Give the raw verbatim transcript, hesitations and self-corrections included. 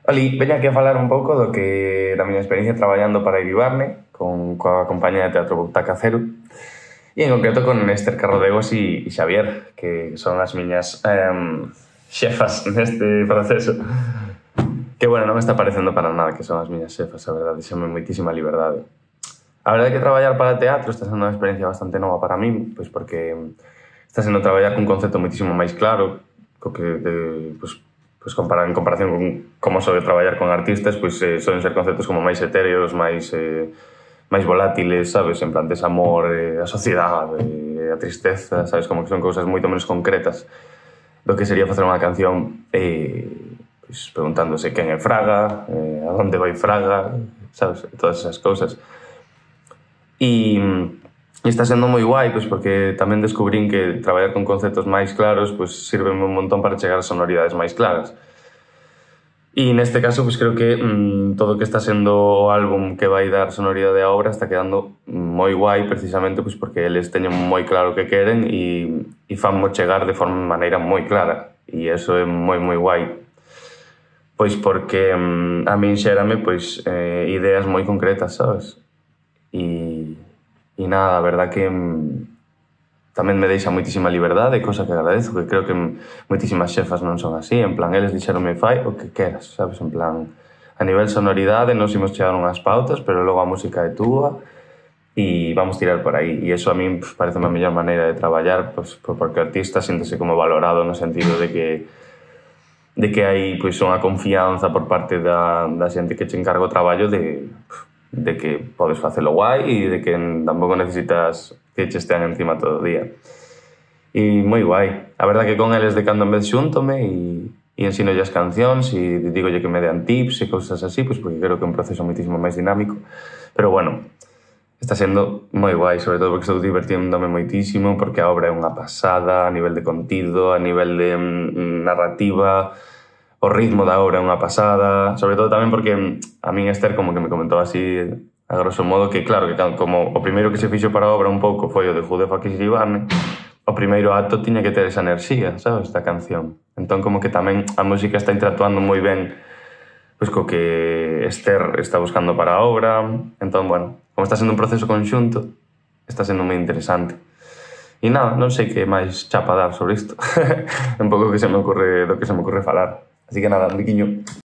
Oli, veña aquí a falar un pouco do que da miña experiencia traballando para Iribarne con coa compañía de teatro Butaca Cero e en concreto con Esther Carrodegos e, e Xavier, que son as miñas um, xefas neste proceso. Que, bueno, non me está parecendo para nada que son as miñas xefas, a verdade, xame moitísima liberdade. A verdade é que traballar para teatro está sendo unha experiencia bastante nova para min, pois porque está sendo traballar cun concepto moitísimo máis claro, co que, de, pois, pois compara, en comparación con como soe traballar con artistas, pois eh, soen ser conceptos como máis etéreos, máis eh, máis volátiles, sabes, en plan desamor, eh, a sociedade, eh, a tristeza, sabes, como que son cousas moito menos concretas do que sería facer unha canción eh, pois, preguntándose quen é Fraga, eh, a onde vai Fraga, sabes, todas esas cousas. E, e está sendo moi guai, pois, porque tamén descubrín que traballar con conceptos máis claros pois, sirve un montón para chegar a sonoridades máis claras. E neste caso, pois, creo que mmm, todo o que está sendo o álbum que vai dar sonoridade á obra está quedando moi guai, precisamente pois, porque eles teñen moi claro o que queren e, e fanmo chegar de forma maneira moi clara. E eso é moi, moi guai. Pois porque mmm, a min xérame pois, eh, ideas moi concretas, sabes? E, e nada, a verdad que mmm, tamén me deixa moitísima liberdade, cosa que agradezo, que creo que moitísimas xefas non son así, en plan, eles dixeronme fai o que queras, sabes, en plan, a nivel sonoridade nos imos chegar unhas pautas, pero logo a música é túa e vamos tirar por aí, e eso a min pues, parece a mellor maneira de traballar, pues, porque o artista síntese como valorado no sentido de que de que hai pois, unha confianza por parte da, da xente que che encarga o traballo de, de que podes facelo guai e de que tampouco necesitas que che estean encima todo o día. E moi guai. A verdad que con eles de cando en vez xúntome e, e ensino as cancións e digolle que me dean tips e cousas así, pois porque creo que é un proceso moitísimo máis dinámico. Pero bueno, está sendo moi guai, sobre todo porque estou divertiéndome moitísimo, porque a obra é unha pasada a nivel de contido, a nivel de mm, narrativa, o ritmo da obra é unha pasada, sobre todo tamén porque a min Esther como que me comentou así a grosso modo que claro, que como o primeiro que se fixo para a obra un pouco foi o de Who the Fuck is Iribarne, o primeiro acto tiña que ter esa enerxía, sabes, da canción. Entón como que tamén a música está interactuando moi ben pois co que Esther está buscando para a obra. Entón, bueno, como está sendo un proceso conxunto, está sendo moi interesante. E nada, non sei que máis chapa dar sobre isto. Un pouco que se me ocurre, do que se me ocurre falar. Así que nada, un biquiño.